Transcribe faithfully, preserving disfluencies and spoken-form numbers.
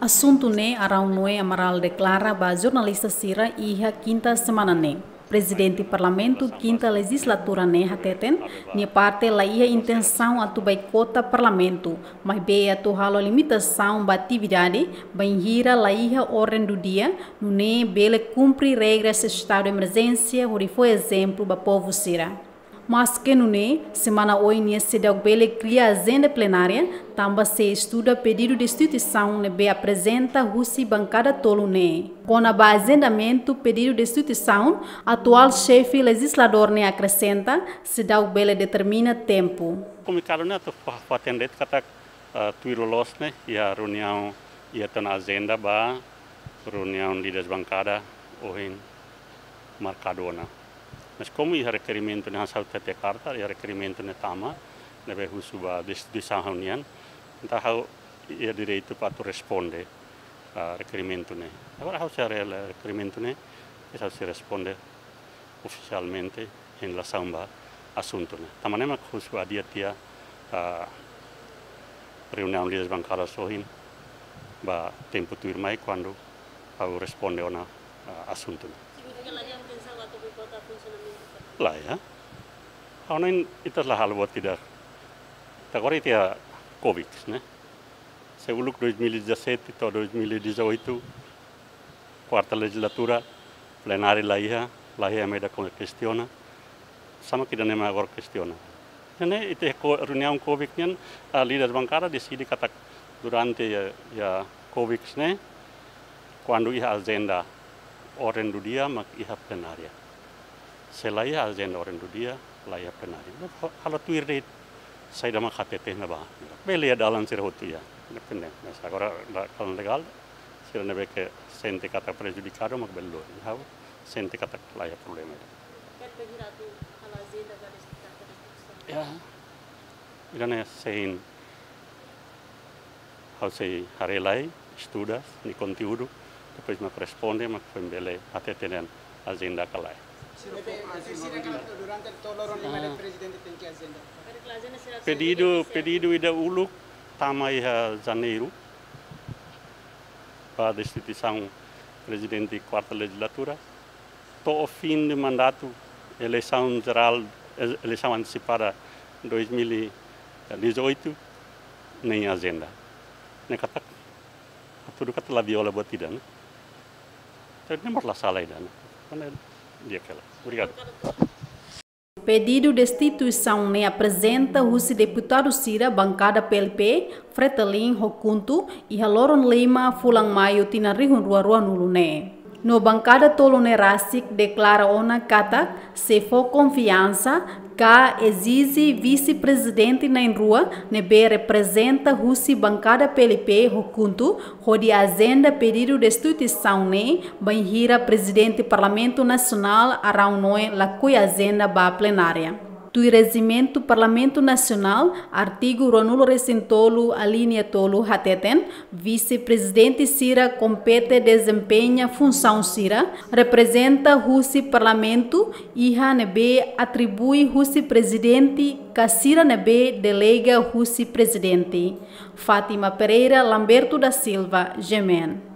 Asuntu ne'e Arão Noé Amaral deklara ba jornalista sira iha kinta semana ne'e. Prezidente Parlamentu kinta lejizlatura ne'e hateten, nia parte la iha intensaun atu boikota Parlamentu, maibé atu halo limitasaun ba atividade, bainhira la iha orden do dia, nune'e bele kumpre regras estadu de emerjénsia hodi fó ezemplu ba povu sira. Maske nune'e, semana oin nia seidauk bele kria ajenda plenária, tanba sei estuda pedidu destituisaun ne'ebé aprezenta husi bankada tolu ne'e. Kona-ba ajendamentu pedidu destituisaun, atuál xefe lejizladór ne'e akresenta, seidauk bele determina tempu. Komunikadu ne'e atu fa-, fó-hatene de'it katak, ah, tuir loloos ne'e, iha reuniaun, iha tan ajenda ba reuniaun líderes bankada ohin markadu ona. Mas komu iha rekerimentu ne'e, hanesan ha'u hatete karta, iha rekerimentu ne'e tama, ne'ebé husu ba destituisaun ha'u-nian, entaun ha'u iha direitu para atu responde, ah, rekerimentu ne'e. Agora ha'u sei haree rekerimentu ne'e, depois ha'u sei responde ofisialmente em relação ba asuntu ne'e. Tanba ne'e mak husu adia tiha, ah, reuniaun líderes bankada ohin ba tempu tuirmai kuandu ha'u responde ona, ah, asuntu ne'e. Significa la iha intensaun atu boikota funsionamentu? La iha. Ha'u hanoin ita la halo buat ida. Ita agora ita iha COVID, ne'e? Se uluk dois mil e dezassete to'o dois mil e dezoito, kuarta lejizlatura, plenária la iha, la iha ema ida kona kestiona, sama ida-ne'e mak agora kestiona. Ne'e, ita ko-, reuniaun COVID nian, ah, líder bankada deside katak durante iha, iha COVID ne'e, kuandu iha ajenda orden do dia, mak iha plenária. Se la iha ajenda orden do dia, la iha plenária. Halo tuir de'it saida mak hateten ne'ebá. Bele iha dalan sira hotu iha. Depende. Mas agora la, kalau legal, sira ne'ebé ke sente katak prejudikadu, mak bele lori. Ha'u sente katak la iha problema. Kan bagi ratu halo ajenda garis tiga garis tiga. Ya. Ida-ne'e sein ha'u sei haree lai, estuda nia konteúdu, depois mak responde, mak foin bele hateten ajenda ka lae. Sira fo-, sira, sira katak durante to'o loron lima, ah, de'it prezidente tenke ajenda. Pedidu, pedidu ida uluk tama iha Janeiru ba destituisaun prezidente kuarta lejizlatura. To'o fim de mandatu, eleisaun jerál, e-, eleisaun antesipada dois mil e dezoito, nein ajenda. Ne'e katak, hatudu katak la viola buat ida, ne'e? Jadi ne'e mós la sala ida, ne'e? Karena dia kela. Obrigadu. Pedidu destituisaun ne'e aprezenta husi deputadu sira bankada P L P, Fretilin ho KHUNTO, iha loron lima fulan Maiu tinan rihun rua ruanulu ne'e. No bankada tolu ne'e rasik deklara ona katak sei fó konfiansa ka ezije vise-prezidente na'in-rua ne'ebé reprezenta husi bankada P L P ho KHUNTO, hodi ajenda pedidu destituisaun ne'e, bainhira Prezidente Parlamentu Nasionál Arão Noé lakohi ajenda ba plenária. Tuir rejimentu Parlamentu Nasionál, artigu ruanulu-resin-tolu, alínea tolu, hateten, vise-prezidente sira kompete dezempeña funsaun sira, reprezenta husi Parlamentu, iha ne'ebé atribui husi Prezidente, ka sira ne'ebé delega husi Prezidente. Fátima Pereira, Lamberto da Silva, G M N.